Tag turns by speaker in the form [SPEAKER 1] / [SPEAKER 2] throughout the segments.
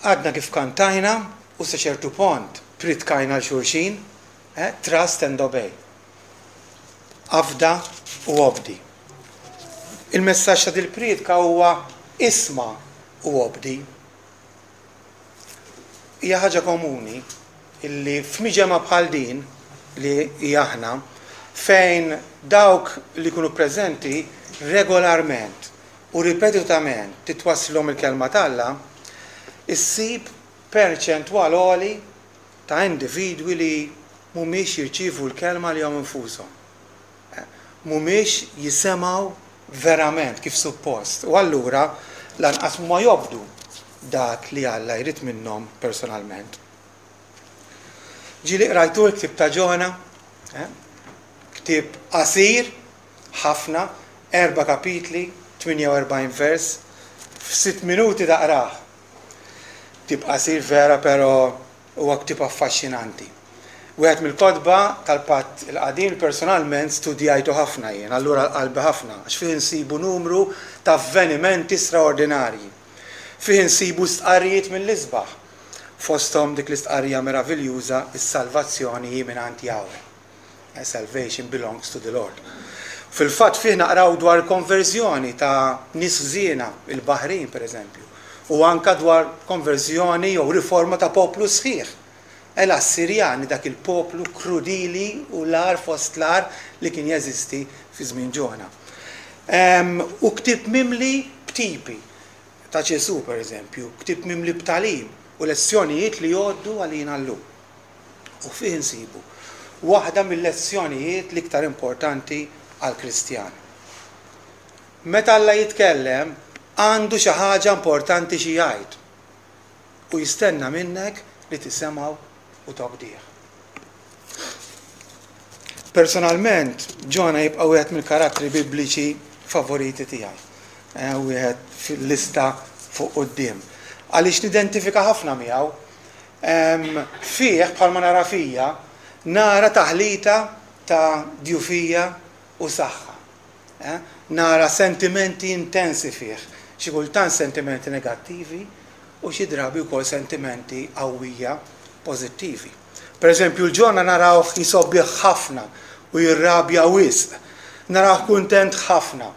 [SPEAKER 1] Għadna kif kantajna u sa ċertu pont pritkajna 'l xulxin, eh, trust and obey. Afda u obdi. Il-messaġġ ta' dil-priedka huwa isma' u obdi. Hija ħaġa komuni illi f'miġemgħa bħal din li hi aħna, fejn dawk li jkunu preżenti regolarment u ripetutament titwasslilhom il-Kelma t'Alla, issib perċentwal għoli ta' individwi li mhumiex jirċievu l-Kelma għalihom infushom. Mhumiex jisemgħu verament kif suppost u allura lanqas mhuma jobdu dak li Alla jrid minnhom personalment. Ġieli qrajtu l-ktieb ta' Ġona? Eh? Ktieb qasir ħafna, erba' kapitli, 48 vers, f'sitt minuti taqrah. Ktieb qasir vera però huwa ktieb affaxxinanti. Wieħed mill-kotba tal-Patt il-Qadim li personalment studjajtu ħafna jien, allura għal qalbi ħafna, għax fih insibu numru ta' avvenimenti straordinarji. Fih insibu stqarrijiet mill-isbaħ, fosthom dik l-istqarrija meraviljuża Is-salvazzjoni hi mingħand Jahweh. Salvation belongs to the Lord. Fil-fatt fih naqraw dwar konverżjoni ta' nies ħżiena, il-baħrin pereżempju, u anka dwar konverżjoni jew riforma ta' poplu sħiħ. L-Assirjani, dak il-poplu krudili u l-agħar fost l-agħar li kien jeżisti fi żmien Ġona. U ktieb mimli b'tipi ta' Ġesù pereżempju, ktieb mimli b'tagħlim u lezzjonijiet li jgħoddu għalina llum. U fih insibu waħda mil-lezzjonijiet l-iktar importanti għall-Kristjan. Meta Alla jitkellem, għandu xi ħaġa importanti xi jgħid u jistenna minnek li tisemgħu u tobdih. Personalment, Ġona jibqa' wieħed mill-karattri Bibliċi favoriti tiegħi. Eh, wieħed fil-lista fuq quddiem. Għaliex nidentifika ħafna miegħu Fih, bħalma nara fija, nara taħlita ta' djufija u saħħa. Nara sentimenti intensi fih, xi kultant sentimenti negattivi u xi drabi wkoll sentimenti qawwija pożittivi. Per eżempju, l-Ġona narawh jisobbih ħafna u jirrabja wisq. Narawh kuntent ħafna.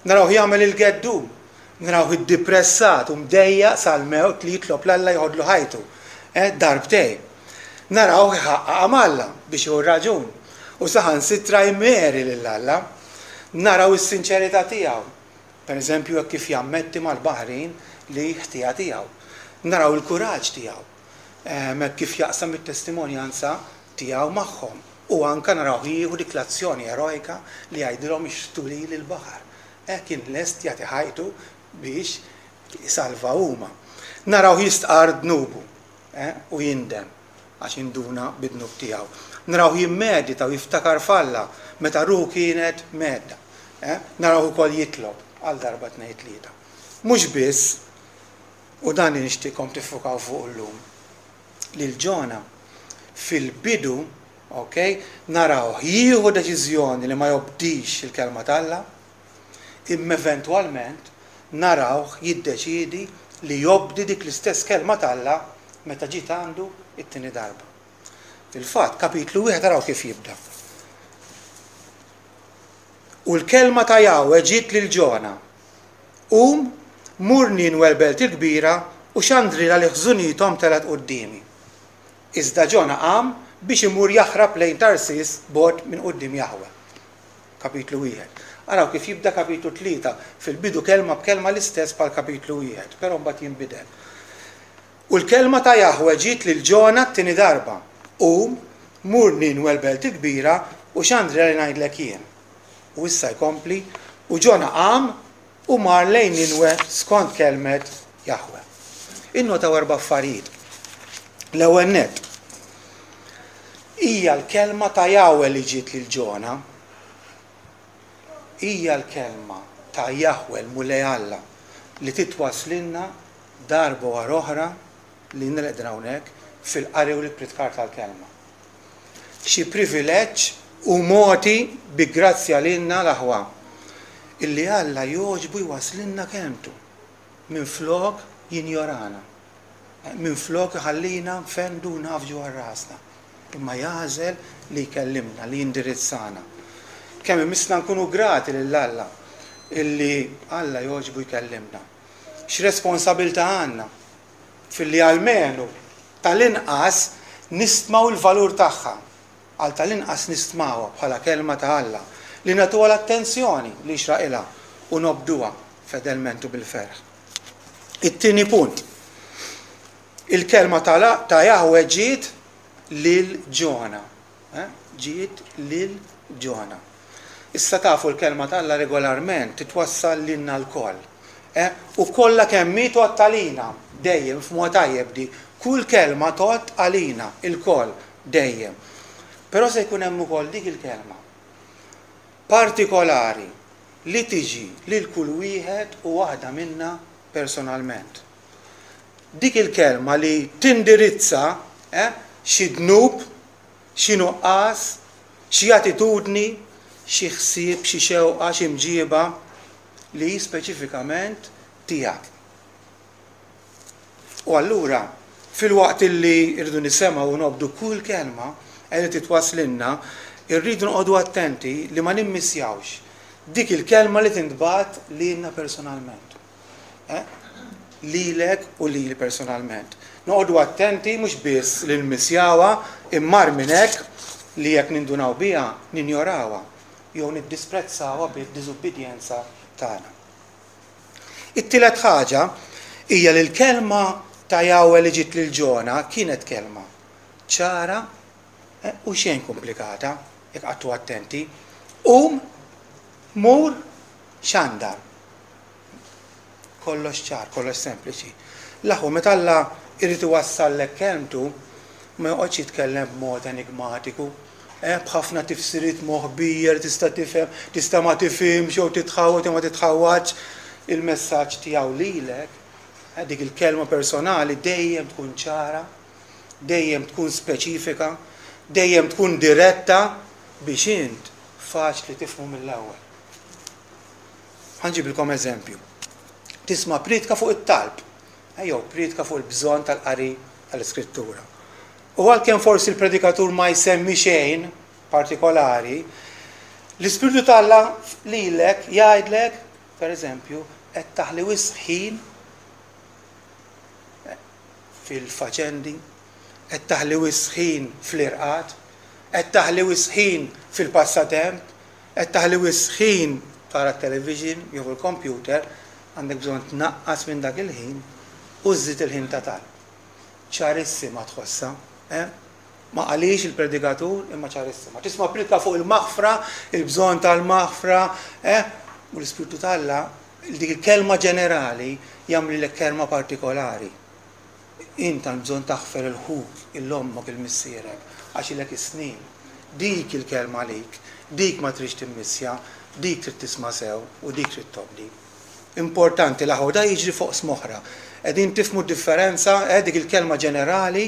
[SPEAKER 1] Narawh jagħmel il-geddum. Narawh iddipressat u mdejjaq sal-mewt li jitlob 'l Alla jeħodlu ħajtu. Darbtejn. Narawh iħaqqaqha m'Alla biex jieħu r-raġun. U saħansitra jmeri lil Alla. Naraw is-sinċerità tiegħu. Per eżempju hekk kif jammetti mal-baħrin li ħtija tiegħu. Naraw il-kuraġġ tiegħu. Hekk kif jaqsam it-testimonjanza tiegħu magħhom. U anke narawh jieħu dik l-azzjoni erojka li jgħidilhom ixħtu lili l-baħar. Eh, kien lest jagħti ħajtu biex isalva huma. Narawh jistqarr dnubu, eh, u jindem għax induna bid-dnub tiegħu. Narawh jimmedita u jiftakar f'Alla meta ruħu kienet mhedda. Eh, narawh ukoll jitlob għal darba tnejn tlieta. Mhux biss, u dan li nixtieqkom tiffukaw fuqu llum, lil Ġona fil-bidu, ok, narawh jieħu deċiżjoni li ma jobdix il-Kelma t'Alla, imma eventwalment narawh jiddeċiedi li jobdi dik l-istess Kelma t'Alla meta ġiet għandu t-tieni darba. Fil-fatt, kapitlu wieħed araw kif jibda. U l-kelma ta' Jahwe ġiet lil Ġona, Qum, mur Ninwe l-belt il-kbira u xandrilha li ħżunithom telgħet quddiemi. Iżda Ġona qam biex imur jaħrab lejn Tarsis bogħod minn quddiem Jaħwe. Kapitlu wieħed. Araw kif jibda kapitlu tlieta, fil-bidu kelma b'kelma l-istess bħal kapitlu wieħed, però mbagħad jinbidel. U l-kelma ta' Jaħwe ġiet lil Ġona t-tieni darba, Qum, mur Ninwe l-belt il-kbira u xandrilha li ngħidlek jien. U issa jkompli, U Ġona qam u mar lejn Ninwe skont kelmet Jaħwe. Innotaw erba' affarijiet. L-ewwel nett, hija l-kelma ta' Jahwe li ġiet lil Ġona. Hija l-kelma ta' Jahwe, l-Mulej Alla, li titwasslilna darba wara oħra lilna li qegħdin hawnhekk fil-qari u l-ippritkar tal-kelma. Xi privileġġ hu mogħti bi grazzja lilna l-aħwa, illi Alla jogħġbu jwasslilna kelmtu, minflok jinjorana. Minflok iħallina nfendu u nagħfġu għal rasna. Imma jagħżel li jkellimna, li jindirizzana. Kemm imissna nkunu grati lil Alla illi Alla jogħġbu jkellimna. X'responsabilità għandna filli almenu tal-inqas nistmaw il-valur tagħha, għal tal-inqas nistmawha bħala Kelma ta' Alla, li nagħtuha l-attenzjoni li jixraqilha u nobduha fedelment u bil-ferħ. It-tieni punt. Il-kelma ta' Jahwe ġiet lil Ġona. Eh? Ġiet lil Ġona. Issa tafu l-kelma ta' Alla regolarment titwassal lilna lkoll. Eh? U kollha kemm hi tgħodd għalina, dejjem f'mod tajjeb di. Kull kelma tgħodd għalina, ilkoll, dejjem. Però se jkun hemm ukoll dik il-kelma partikolari li tiġi lil kull wieħed u waħda minna personalment. Dik il-kelma li tindirizza eh, xi dnub, xi nuqqas, xi attitudni, xi ħsieb, xi xewqa, xi mġieba li hi speċifikament tiegħek. U allura, filwaqt illi rridu nisemgħu u nobdu kull kelma li titwasslilna, irridu noqogħdu attenti li ma nimmissjawx dik il-kelma li tintbagħat lilna personalment. Eh? Lilek u lili personalment. Noqogħdu attenti mhux biss li nmissjawha, imma agħar minn hekk li jekk nindunaw biha ninjorawha jew niddisprezzawha bid-diżubbidjenza tagħna. It-tielet ħaġa hija li l-kelma ta' Jahweh li ġiet lil Ġona kienet kelma ċara eh, u xejn komplikata, jekk qgħadtu attenti. Qum, mur, xandar. Kollox ċar, kollox sempliċi. L-aħwa, meta Alla jrid iwassallek kelmtu, ma joqgħodx jitkellem b'mod enigmatiku, eh, b'ħafna tifsiriet moħbija li tista' tifhem, tista' ma tifhimx jew titħawwad jew ma titħawwadx. Il-messaġġ tiegħu lilek, eh, dik il-kelma personali dejjem tkun ċara, dejjem tkun speċifika, dejjem tkun diretta biex int faċli tifhmu mill-ewwel. Ħa nġibilkom eżempju. Tisma' prietka fuq it-talb, eh, jew prietka fuq il-bżonn tal-qari tal-Iskrittura. U għalkemm forsi l-predikatur ma jsemmi xejn partikolari, l-Ispirtu t'Alla lilek jgħidlek, per eżempju, qed taħli wisq ħin eh, fil-faċendi, qed taħli wisq ħin fl-irqad, qed taħli wisq ħin fil-passatemp, Qed taħli wisq ħin tara t-television jew il-kompjuter, għandek bżonn tnaqqas minn dak il-ħin u żżid il-ħin ta' talb. Ċarissima tħossha, eh? Ma qalhiex il-predikatur imma ċarissima. Tisma' priedka fuq il-maħfra, il-bżonn tal-maħfra, eh? U l-Ispirtu t'Alla dik il-kelma ġenerali jagħmlilek kelma partikolari. Int għand bżonn taħfer 'il ħuk, 'il ommok, 'il missierek, għax ilek is-snin. Dik il-kelma għalik, dik ma tridx timmissja, dik trid tisma' sew u dik trid tobdi. Importanti l-aħwa, da jiġri f'oqsma oħra. Qegħdin tifhmu d-differenza, eh, dik il-kelma ġenerali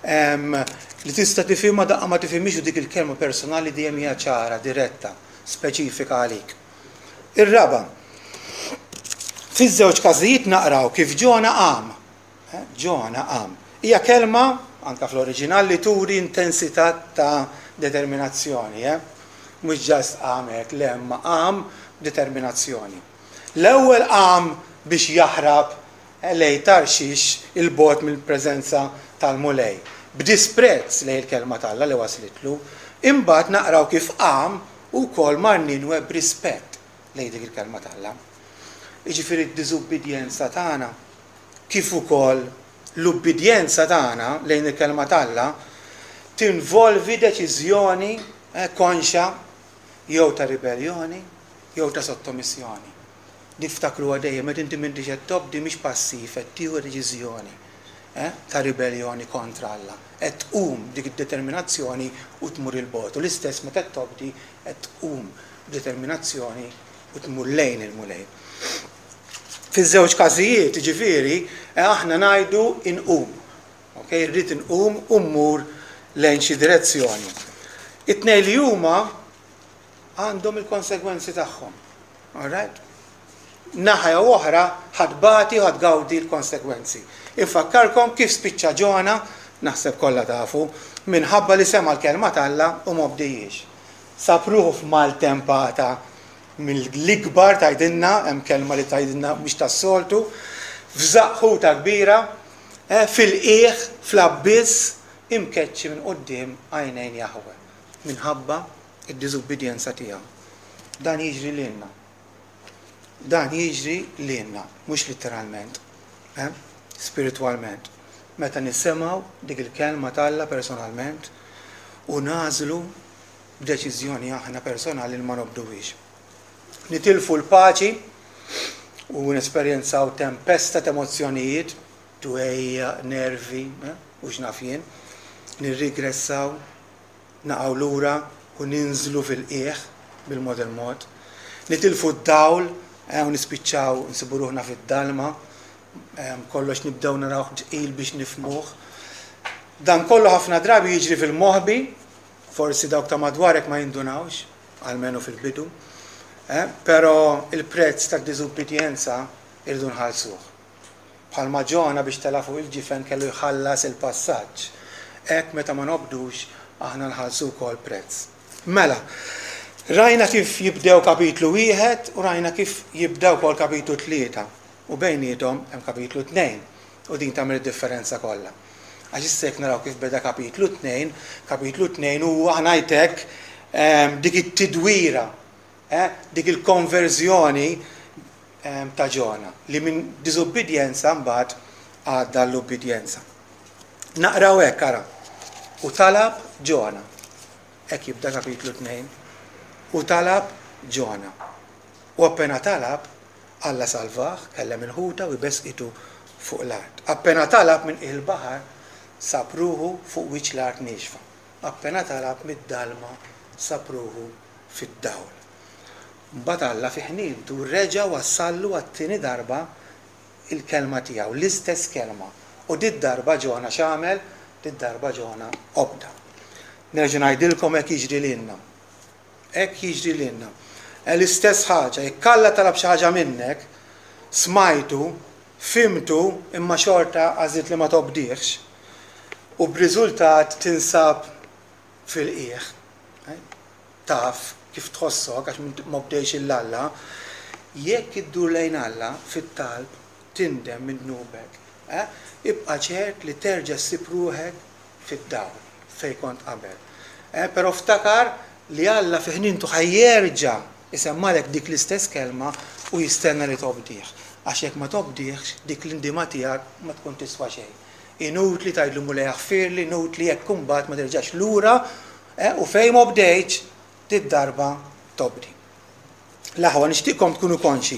[SPEAKER 1] li tista' tifhimha daqqa ma tifhimhiex u dik il-kelma personali dejjem hija ċara, diretta, speċifika għalik. Ir-raba', fiż-żewġ każijiet naqraw kif Ġona qam. Eh, Ġona qam. Hija kelma, anka fl-oriġinal, li turi intensità ta' determinazzjoni. Eh? Mhux ġast qam hekk, le, imma qam b'determinazzjoni. L-ewwel qam biex jaħrab eh, lejn Tarxix 'il bogħod mill-preżenza tal-Mulej, b'disprezz lejn il-kelma t'Alla li waslitlu. Imbagħad naqraw kif qam u wkoll mar Ninwe b'rispett lejn dik il-Kelma t'Alla. Jiġifieri d-diżubbidjenza tagħna kif ukoll l-ubbidjenza tagħna lejn il-Kelma t'Alla tinvolvi deċiżjoni konxja jew ta' ribelljoni jew ta' sottomissjoni. Niftakruha dejjem, meta inti m'intix qed tobdi mhix passiv, qed tieħu deċiżjoni ta' ribelljoni kontra Alla. Qed tqum b'dik id-determinazzjoni u tmur 'il bogħod. U l-istess meta qed tobdi, qed tqum b'determinazzjoni u tmur lejn il-Mulej. Fiż-żewġ każijiet, jiġifieri, aħna ngħidu inqum. Okay? Irrid inqum u mmur lejn xi direzzjoni. It-tnejn li huma għandhom il-konsegwenzi tagħhom. All right? Naħa jew oħra ħa tbati u ħa tgawdi l-konsegwenzi. Infakkarkom kif spiċċa Ġona, naħseb kollha tafu, minħabba li sema' l-kelma t'Alla u m'obdihiex. Sab ruħu f'maltempata mill-ikbar tgħidilna, hemm kelma li tgħidilna mhix tas-soltu, f'żaqq ħuta kbira, eh, fil-qiegħ, fl-abbiss, imkeċċi minn quddiem għajnejn Jaħweh, minħabba d-diżubbidjenza tiegħu. Dan jiġri lilna. Dan jiġri lilna, mhux litteralment, eh, spiritwalment. Meta nisimgħu dik il-kelma t'Alla personalment u nagħżlu b'deċiżjoni aħna personali li ma nobduhiex. Nitilfu l-paċi u nesperjenzaw tempesta t'emozzjonijiet, dwejjaq, nervi, eh, u x'naf jien, nirrigressaw, naqgħu lura u ninżlu fil-qiegħ bil-mod il-mod. Nitilfu d-dawl eh, u nispiċċaw nsibu ruħna fid-dalma, eh, kollox nibdew narawh tqil biex nifhmuh. Dan kollu ħafna drabi jiġri fil-moħbi, Forsi dawk ta' madwarek ma jindunawx, almenu fil-bidu, eh, però il-prezz tad-diżubbidjenza irridu nħallsuh. Bħalma Ġona biex tela' fuq il-ġifen kellu jħallas il-passaġġ, hekk meta ma nobdux aħna nħallsu wkoll prezz. Mela, rajna kif jibdew kapitlu wieħed u rajna kif jibda wkoll kapitlu 3 u bejniethom hemm kapitlu 2 u din tagħmel id-differenza kollha. Għax issa jekk naraw kif beda kapitlu 2, kapitlu 2 huwa ħa ngħid hekk ehm, dik it-tidwira, eh, dik il-konverżjoni ehm, ta' Ġona li minn diżubbidjenza mbagħad għadda l-ubbidjenza. Naqraw hekk ara. U talab Ġona. Hekk jibda kapitlu 2. U talab Ġona. U appena talab, Alla salvah, kellem il-ħuta u jbeżqitu fuq l-art. Appena talab minn qiegħ il-baħar, sab ruħu fuq wiċċ l-art niexfa. Appena talab mid-dalma, sab ruħu fid-dawl. Mbagħad Alla fi ħnientu reġa' wassallu għat-tieni darba l-kelma tiegħu, l-istess kelma. U did-darba Ġona x'għamel? Did-darba Ġona obda. Nerġa' ngħidilkom hekk jiġri lilna. Hekk jiġri lilna. L-istess ħaġa, jekk Alla talab xi ħaġa minnek, smajtu, fhimtu, imma xorta għażilt li ma tobdihx, u b'riżultat tinsab fil-qiegħ, taf kif tħossok għax m'obdejtx 'il Alla, jekk iddur lejn Alla fit-talb, tindem minn dnubek, ibqa' ċert li terġa' ssib ruħek fid-dawl fejn kont qabel. Eh, però ftakar li Alla fi ħnientu ħa jerġa' isemmgħalek dik l-istess kelma u jistenna li tobdih. Għax jekk ma tobdihx, dik l-indiema tiegħek ma tkun tiswa xejn. Inutli tgħidlu Mulej aħfirli, inutli jekk imbagħad ma terġax lura eh, u fejn m'obdejtx, did-darba tobdi. L-aħwa nixtieqkom tkunu konxi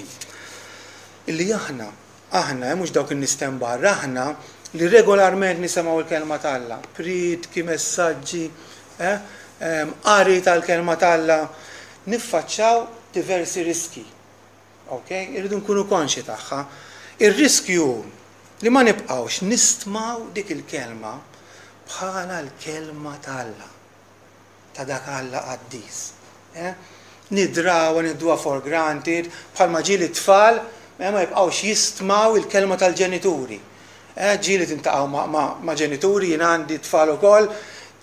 [SPEAKER 1] illi aħna, aħna, eh, mhux dawk in-nies t'hemm barra, aħna li regolarment nisemgħu l-kelma t'Alla, priedki, messaġġi, eh, qari tal-kelma t'Alla, niffaċċaw diversi riski. Ok? Irridu nkunu konxi tagħha. Ir-riskju hu li ma nibqgħux nistmaw dik il-kelma bħala l-kelma t'Alla. ta' dak Alla qaddis. Eh? Nidrawha, nieħduha for granted, bħalma ġieli t-tfal eh, ma jibqgħux jistmaw il-kelma tal-ġenituri. Eh, ġieli tintaqgħu ma', ma, ma' ġenituri, jien għandi tfal ukoll,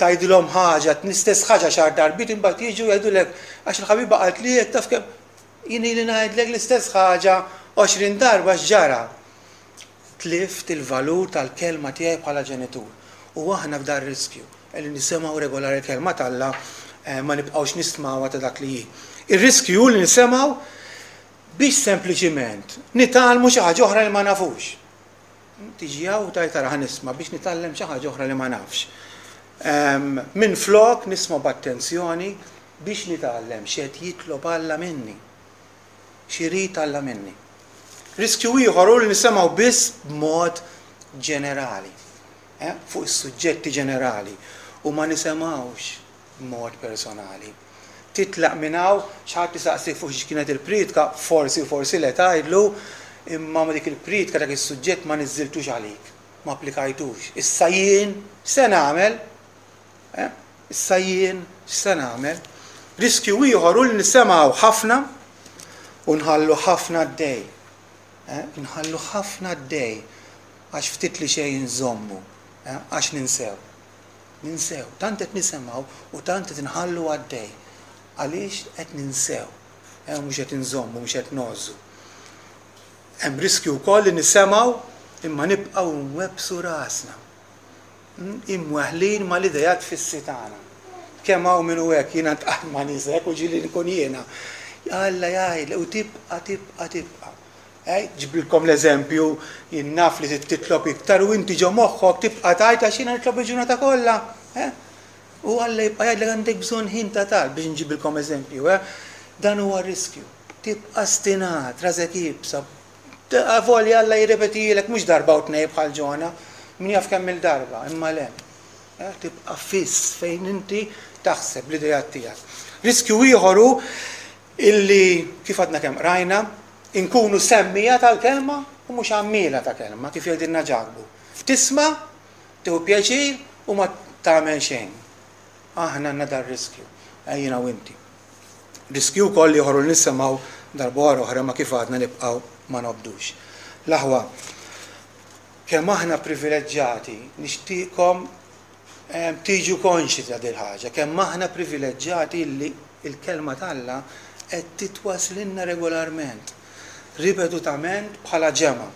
[SPEAKER 1] tgħidilhom ħaġa, l-istess ħaġa xahar darbiet imbagħad jiġu jgħidulek għax il-ħabiba qalt li hekk taf kemm jien ili ngħidlek l-istess ħaġa 20 darba x'ġara. Tlift il-valur tal-kelma tiegħi bħala ġenitur. U aħna f'dar riskju li nisimgħu regolari l-kelma t'Alla ma nibqgħux nistmawha ta' dak li hi. Ir-riskju hu li nisimgħu biex sempliċiment nitgħallmu xi ħaġa oħra li ma nafux. Tiġi hawn u tgħid ara ħa nisma' biex nitgħallem xi ħaġa oħra li ma nafx. Minflok nisma' b'attenzjoni biex nitgħallem x'qed jitlob Alla minni. X'irid Alla minni? Riskju ieħor hu li nisemgħu biss b'mod ġenerali, eh, fuq is-suġġetti ġenerali, u ma nisemgħux b'mod personali. Titlaq minn hawn, xi ħadd isaqsik fuq xiex kienet il-priedka, forsi u forsi le tgħidlu, imma dik il-priedka dak is-suġġett ma niżżiltux għalik, ma applikajtux. Issa jien x'se nagħmel? Eh? Issa jien x'se nagħmel? Riskju ieħor hu li nisemgħu ħafna u nħallu ħafna għaddej. Eh? Nħallu ħafna għaddej. Għax ftit li xejn inżommu, għax ninsew. Ninsew. Tant qed nisimgħu u tant qed inħallu għaddej. Għaliex qed ninsew. U mhux qed inżommu, mhux qed ngħożżu. Hemm riskju wkoll li nisemgħu imma nibqgħu nwebbsu rasna. Imweħħlin mal-ideat fissi tagħna. Kemm hawn min hu hekk, jiena ntqajt ma' nies hekk u ġieli nkun jiena. Alla jgħidlek u tibqa' tibqa' tibqa'. Eh, ġiblkom l-eżempju, jien naf li trid titlob iktar u inti ġo moħħok tibqa' tgħid għax jiena nitlob il-ġurnata kollha. Eh? U Alla jibqa' jgħidlek għandek bżonn ħin ta' talb biex nġibilkom eżempju. Eh? Dan huwa riskju. Tibqa' stinat, rasek iebsa. Avolja Alla jirrepetielek mhux darba u tnej bħal Ġona, min jaf kemm il-darba, imma le. Eh, tibqa' fiss fejn inti taħseb l-idejat tiegħek. Riskju ieħor hu illi kif għadna kemm qrajna, inkunu semmiegħa tal-kelma u mhux għammiela ta' kelma, kif jgħidilna Ġakbu. Tisma', tieħu pjaċir u ma tagħmel xejn. Aħna għandna dar-riskju, eh, jiena u inti. Riskju wkoll ieħor li nisimgħu darba wara oħra ma kif għadna nibqgħu ma nobdux. L-aħwa, kemm aħna privileġġjati, nixtieqkom tiġu konxji ta' dil-ħaġa, kemm aħna privileġġjati li l-Kelma t'Alla qed titwaslilna regolarment, ripetutament bħala ġemgħa.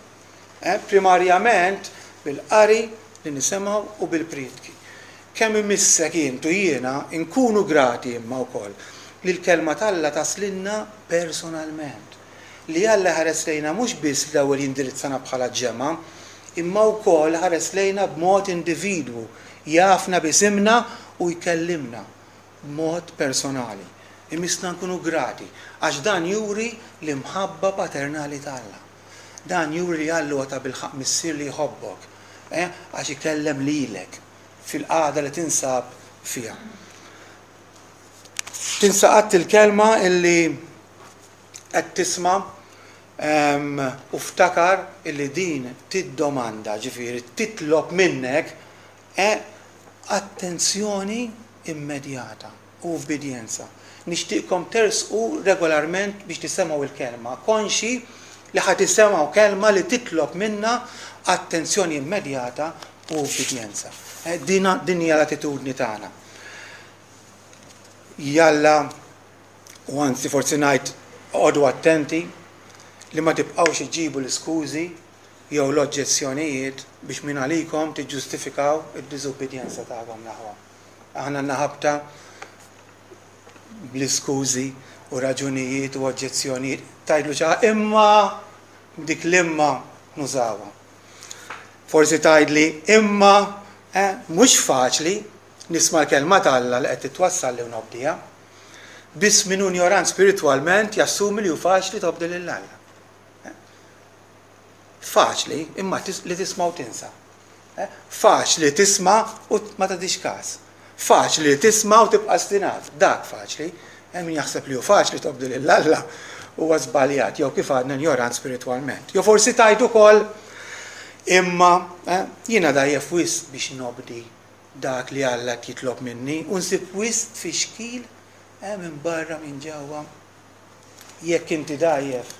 [SPEAKER 1] Primarjament bil-qari li nisimgħu u bil-prietki. Kemm imissek int u jiena nkunu grati imma wkoll li l-Kelma t'Alla taslilna personalment. Li Alla jħares lejna mhux biss l-ewwel jindirizzana bħala ġemgħa, imma wkoll iħares lejna b'mod individwu, jafna b'isimna u jkellimna b'mod personali. Imissna nkunu grati, għax dan juri l-imħabba paternali t'Alla. Dan juri li Alla huwa tabilħaqq Missier li jħobbok, eh, għax ikellem lilek fil-qagħda li tinsab fiha. Tinsa qatt il-kelma illi qed tisma' U ftakar illi din tiddomanda, ġifieri titlob minnek, attenzjoni immedjata u ubbidjenza. Nixtieqkom tersqu regolarment biex tisemgħu l-kelma, konxji li ħa tisemgħu kelma li titlob minna attenzjoni immedjata u ubbidjenza. Din hija l-attitudni tagħna. Jalla U anzi forsi ngħid oqogħdu attenti li ma tibqgħux iġġibu l-iskużi jew l-oġġezzjonijiet biex mingħalikom tiġġustifikaw id-diżubbidjenza tagħkom l-aħwa. Aħna għandna ħabta bl-iskużi u raġunijiet u oġġezzjonijiet. Tgħidlu xi ħaġa imma dik l-imma nużawha. Forsi tgħidli imma eh, mhux faċli nisma' l-kelma t'Alla li qed titwassalli u nobdiha. Biss min hu injorant spiritwalment jassumi li hu faċli tobdi lil Alla. Faċli, imma li tisma' u tinsa. Faċli tisma' u ma tagħtix każ. Faċli li tisma' u tibqa' stinat. Dak faċli. Hemm min jaħseb li hu faċli tobdi lil Alla huwa żbaljat jew kif għadna injorant spiritwalment. Jew forsi tgħid ukoll imma jiena dgħajjef wisq biex nobdi dak li Alla qed jitlob minni u nsib wisq tfixkil minn barra minn ġewwa. Jekk inti dgħajjef,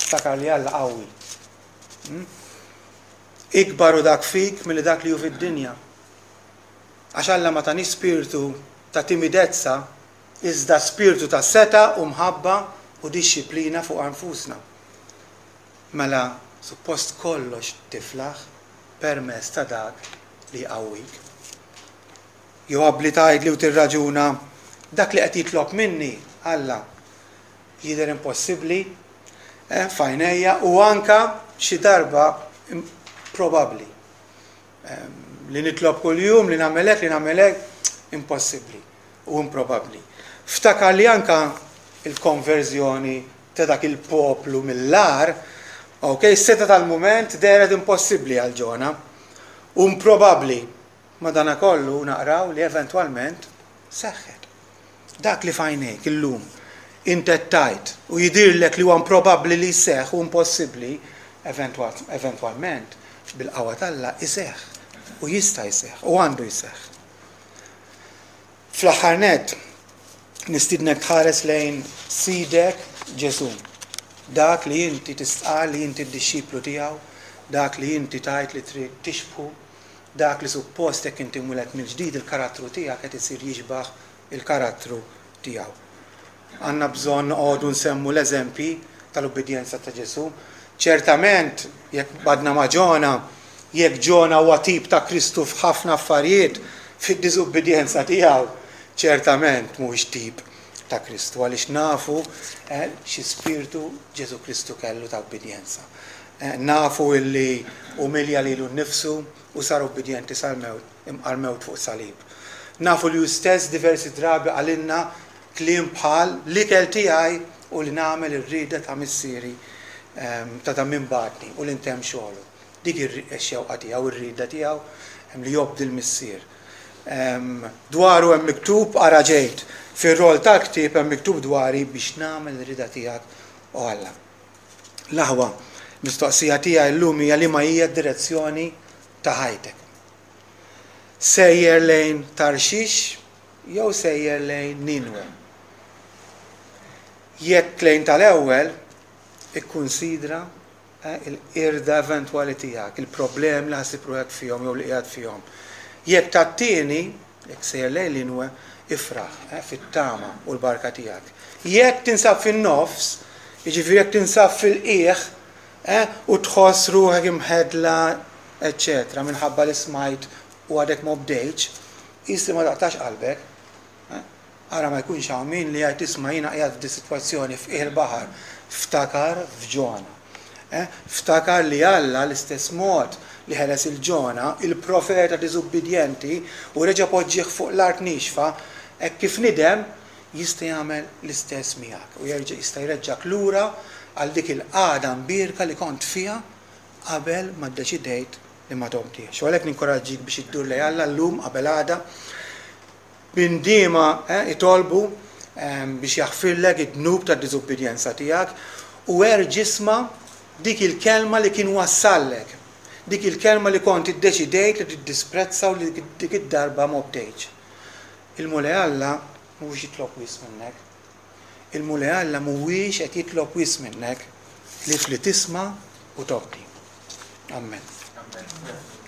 [SPEAKER 1] ftakar li Alla qawwi. Hmm? Ikbar hu dak fik milli dak li hu fid-dinja. Għax Alla ma tani spirtu ta' timidezza, iżda spirtu ta' setgħa u mħabba u dixxiplina fuq anfusna. Mela suppost kollox tiflaħ permezz ta' dak li jqawwik. Jew abbli tgħidli u tirraġuna, dak li qed jitlob minni Alla jidher impossibbli eh, f'għajnejja u anka xi darba probabbli. Ehm, li nitlob kuljum, li nagħmel hekk, li nagħmel hekk, impossibbli u improbabbli. Ftakar li anka il-konverżjoni ta' dak il-poplu mill-agħar, ok, is-setgħa tal-mument dehret impossibbli għal Ġona u improbabbli. Madanakollu naqraw li eventwalment seħħet. Dak li f'għajnejk illum int qed tgħid u jidhirlek li huwa improbabbli li jseħħ u impossibbli, eventwalment bil-qawwa t'Alla jseħħ u jista' jseħħ u għandu jseħħ. Fl-aħħar nett, nistiednek tħares lejn Sidek Ġesù, dak li inti tistqarr li inti d-dixxiplu tiegħu, Dak li inti tgħid li trid tixbħu, dak li suppost jekk inti mwieled mill-ġdid il-karattru tiegħek qed isir jixbah il-karattru tiegħu. Għandna bżonn noqogħdu nsemmu l-eżempji tal-ubbidjenza ta' Ġesù. Ċertament, jekk qbadna ma' Ġona, jekk Ġona huwa tip ta' Kristu f'ħafna affarijiet, fid-diżubbidjenza tiegħu ċertament mhuwiex tip ta' Kristu għaliex nafu xi spirtu Ġesù Kristu kellu ta' ubbidjenza. Nafu illi umilja lilu nnifsu u sar ubbidjenti sal-mewt, imqar mewt fuq salib. Nafu li hu stess diversi drabi qalilna kliem bħal, L-ikel tiegħi hu li nagħmel ir-rieda ta' Missieri, ta' ta' min bagħatni, u li ntemm xogħlu. Dik hi x-xewqa tiegħu, ir-rieda tiegħu li jobdi l-Missier. Dwaru hemm miktub, Ara ġejt, fir-roll tal-ktieb hemm miktub dwari biex nagħmel ir-rieda tiegħek, o Alla. L-aħwa, il-mistoqsija tiegħi llum hija liema hija d-direzzjoni ta' ħajtek? Sejjer lejn Tarxix jew sejjer lejn Ninwe? Jekk lejn tal-ewwel, ikkunsidra il-qirda eventwali tiegħek, il-problemi li ħa ssib ruħek fihom jew li qiegħed fihom. Jekk tat-tieni, jekk sejjer lejn Ninwe, ifraħ fit-tama u l-barka tiegħek. Jekk tinsab fin-nofs, jiġifieri jekk tinsab fil-qiegħ u tħoss ruħek imħeddla, eċċetera, minħabba li smajt u għadek ma obdejtx, qis li ma taqtax qalbek. Ara ma jkunx hawn min li jgħid isma' jiena qiegħed f'di sitwazzjoni f'qiegħ il-baħar. Ftakar f'Ġona. Ftakar li Alla l-istess mod li ħeles 'il Ġona, il-profeta diżubbidjenti, u reġa' poġġieh fuq l-art niexfa, hekk kif nidem, jista' jagħmel l-istess miegħek u jerġa' jista' jreġġgħek lura għal dik il-qagħda mbierka li kont fiha qabel ma ddeċidejt li ma tobdihx. U għalhekk ninkoraġġik biex iddur lejn Alla llum qabel għada. B'indiema itolbu biex jaħfirlek id-dnub tad-diżubbidjenza tiegħek u erġa' isma' dik il-kelma li kien wassallek, dik il-kelma li kont iddeċidejt li tiddisprezza u li dik id-darba m'obdejtx. Il-Mulej Alla mhuwiex jitlob wisq minnek. Il-Mulej Alla mhuwiex qed jitlob wisq minnek ħlief li tisma' u tobdi. Ammen.
[SPEAKER 2] Amen.